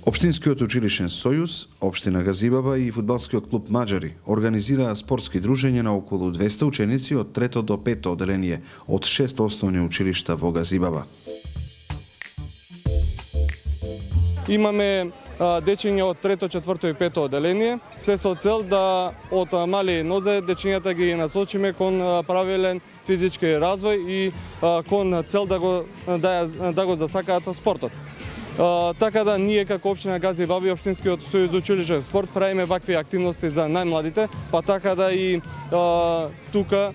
Општинскиот училишен сојуз, општина Газибаба и фудбалскиот клуб Маџари организираа спортски дружења на околу 200 ученици од 3 до 5 оделение од 6 основни училишта во Газибаба. Имаме дечиња од 3, 4 и 5 оделение, се со цел да од мали нозе дечињата ги насочиме кон правилен физички развој и кон цел да го засакаат спортот. Така да ние како општина Газибаба и Општинскиот сојуз училишен спорт правиме вакви активности за најмладите, па така да и тука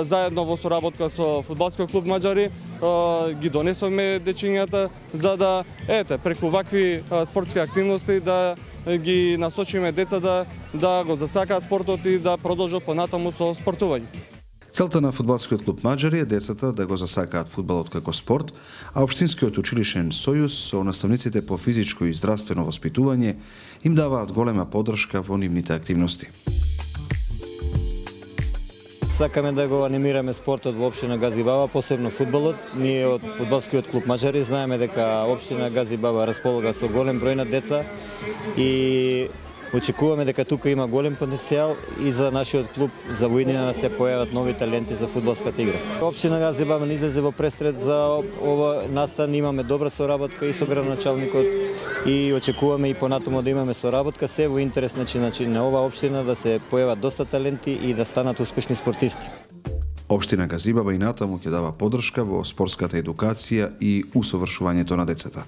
заедно во соработка со фудбалскиот клуб Маџари ги донесовме дечињата за да преку вакви спортски активности да ги насочиме децата да го засакаат спортот и да продолжат понатаму со спортување. Целта на фудбалскиот клуб Маџари е децата да го засакаат фудбалот како спорт, а Општинскиот училишен сојуз со наставниците по физичко и здравствено воспитување им даваат голема поддршка во нивните активности. Сакаме да го анимираме спортот во општина Газибаба, посебно фудбалот. Ние од фудбалскиот клуб Маџари знаеме дека општина Газибаба располага со голем број на деца и очекуваме дека тука има голем потенцијал и за нашиот клуб за во иднина да се појават нови таленти за фудбалската игра. Општина Газибаба не излезе во престрет за ова настан, имаме добра соработка и со градоначалникот и очекуваме и понатаму да имаме соработка, се во интерес на ова општина да се појават доста таленти и да станат успешни спортисти. Општина Газибаба и натаму ќе дава поддршка во спортската едукација и усовршувањето на децата.